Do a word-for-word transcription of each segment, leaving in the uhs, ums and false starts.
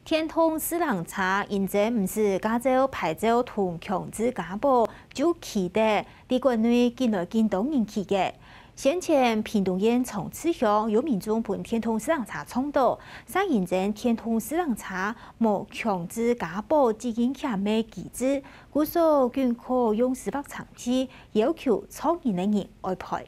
電動自行車因為毋使駕照、牌照同強制加保，就騎得在國內緊來緊多人騎个。先前屏東縣長治鄉有民眾分電動自行車撞倒，就因為電動自行車無強制加保責任險个機制，故所緊可用司法程序要求撞人个人愛賠。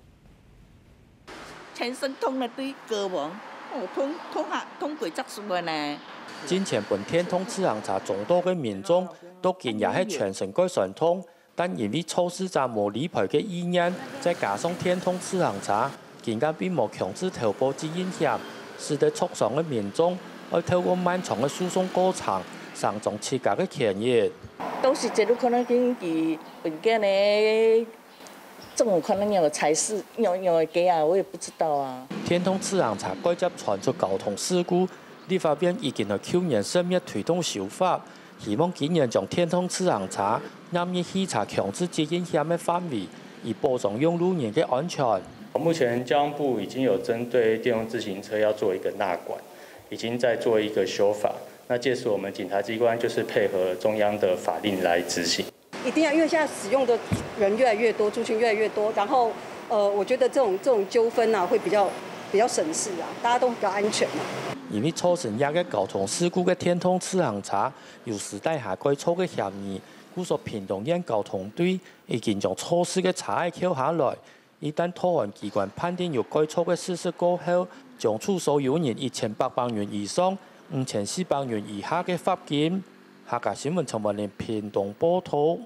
全身痛了，對，過往，哦，痛，痛啊，痛幾隻手个呢。進前分電動自行車撞倒个民眾，到今也係全身蓋痠痛，但因為肇事者無理賠个意願，再加上電動自行車，竟然並無強制投保責任險，使得受傷个民眾愛透過漫長个訴訟過程，伸張自家个權益。到時節有可能根據文件呢， 政府可能有个差事，有，有个给啊，我也不知道啊。電動自行車蓋捷傳出交通事故，立法院已經在舊年十月推動修法，希望今年將電動自行車納入汽車強制責任險个範圍，以保障用路人个安全。目前交通部已經有針對電動自行車要做一個納管，已經在做一個修法。那屆時我們檢察機關就是配合中央的法令來執行。 一定要，因為現在使用的人越來越多，族群越來越多，然後，呃，我覺得這種，這種糾紛啊，會比較，比較省事啊，大家都比較安全嘛。因為造成這个交通事故个電動自行車有私底下改造个嫌疑，故所屏東縣交通隊已經將肇事个車仔扣下來， 一旦桃園機關判定有改造个事實過後，將處所有人一千八百元以上、五千四百元以下个罰金。客家新聞陳文玲屏東報導。